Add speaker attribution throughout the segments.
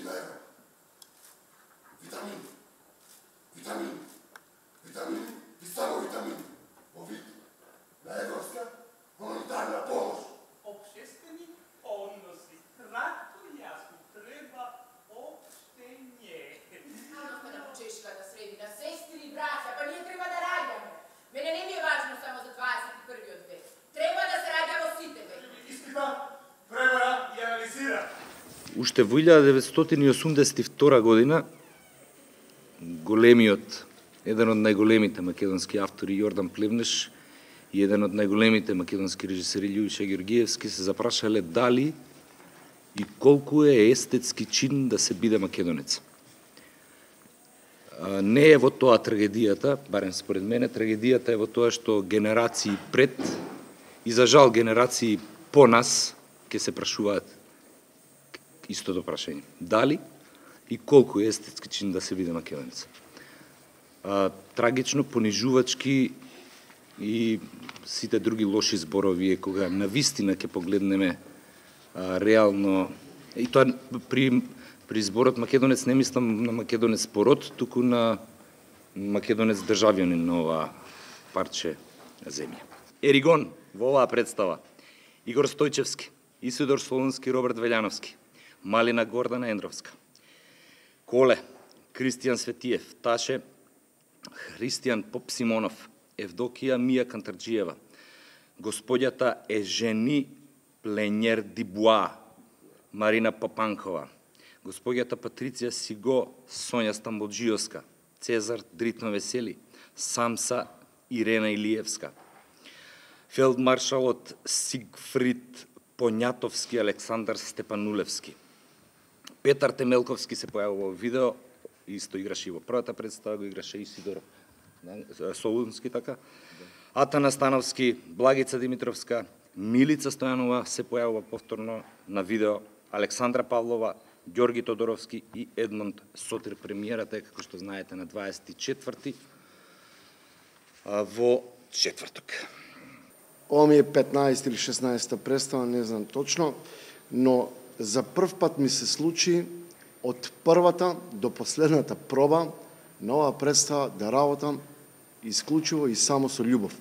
Speaker 1: евро. Витамини. Витамини. Витамини и само витамини. Во вид на европска хуманитарна помош.
Speaker 2: Обществени односи. Кратко и јасно. Треба обштење.
Speaker 3: Ама да почешка да среди на сестри и браќа, па ние треба да раѓаме. Мене не ми е важно само за 21-иот век. Треба да се раѓа во сите векови.
Speaker 1: Испита, пребара и анализира.
Speaker 4: Уште во 1982 година еден од најголемите македонски автори Јордан Плевнеш и еден од најголемите македонски режисери Љубиша Ѓоргиевски се запрашале дали и колку е естетски чин да се биде македонец. Не е во тоа трагедијата, барем според мене, трагедијата е во тоа што генерации пред и за жал генерации по нас ќе се прашуваат истото прашање. Дали и колку е естетски чин да се биде македонец. Трагично, понижувачки и сите други лоши зборови е кога навистина ќе погледнеме реално, и тоа при зборот македонец не мислам на македонец пород, туку на македонец државјанин на ова парче земја. Еригон во оваа представа: Игор Стојчевски, Исидор Солунски, Роберт Велјановски, Малина Гордана Ендровска, Коле, Кристијан Светиев, Таше, Христијан Поп Симонов, Евдокија Мија Кантарджиева, господјата Ежени Пленјер Дибуа, Марина Папанкова, господјата Патриција Сиго, Сонја Стамболджиоска, Цезар Дритно Весели, Самса Ирена Илиевска, фелдмаршалот Сигфрид Понјатовски, Александар Степанулевски. Петар Темелковски се појавува во видео, исто играше и во првата представа, го играше Исидор Солунски, така. Атана Становски, Благица Димитровска, Милица Стојанова се појавува повторно на видео, Александра Павлова, Ѓорги Тодоровски и Едмонд Сотир. Премиерата е, како што знаете, на 24 во четврток.
Speaker 5: Ова ми е 15 или 16 представа, не знам точно, но за прв пат ми се случи од првата до последната проба на оваа представа да работам исклучиво и само со љубов.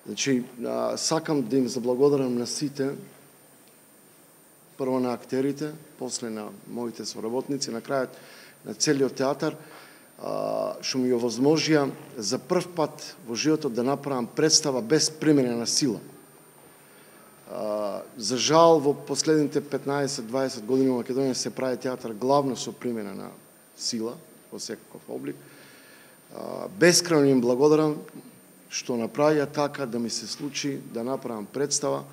Speaker 5: Значи, сакам да им заблагодарам на сите, прво на актерите, после на моите соработници, на крајот на целиот театар, што ми овозможија за прв пат во животот да направам представа без применена сила. За жал, во последните 15-20 години во Македонија се прави театар главно со применена сила, во секаков облик. Бескрајно им благодарам што направија така да ми се случи да направам представа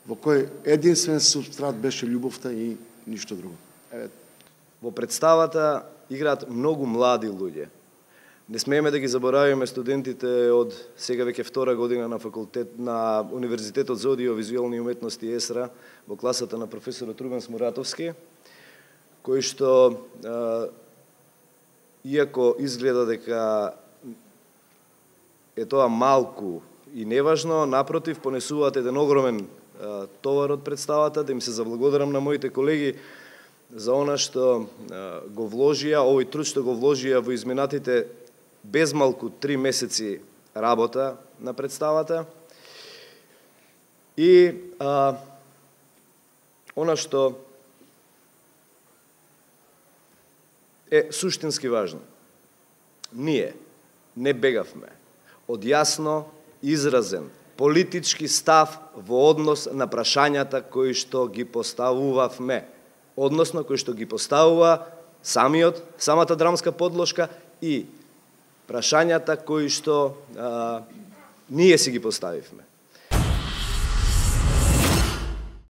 Speaker 5: во кој единствен субстрат беше љубовта и ништо друго.
Speaker 6: Во представата играат многу млади луѓе. Не смееме да ги заборавиме студентите од сега веќе втора година на факултет на Универзитетот за аудиовизуелни уметности ЕСРА во класата на професорот Рубен Смуратовски, кој што иако изгледа дека е тоа малку и неважно, напротив, понесуваат еден огромен товар од представата. Да им се заблагодарам на моите колеги за она што го вложија, овој труд што го вложија во изминатите безмалку 3 месеци работа на представата. И она што е суштински важно. Ние не бегавме од јасно изразен политички став во однос на прашањата кои што ги поставувавме, односно кои што ги поставува самата драмска подложка и прашањата кои што ние си ги поставивме.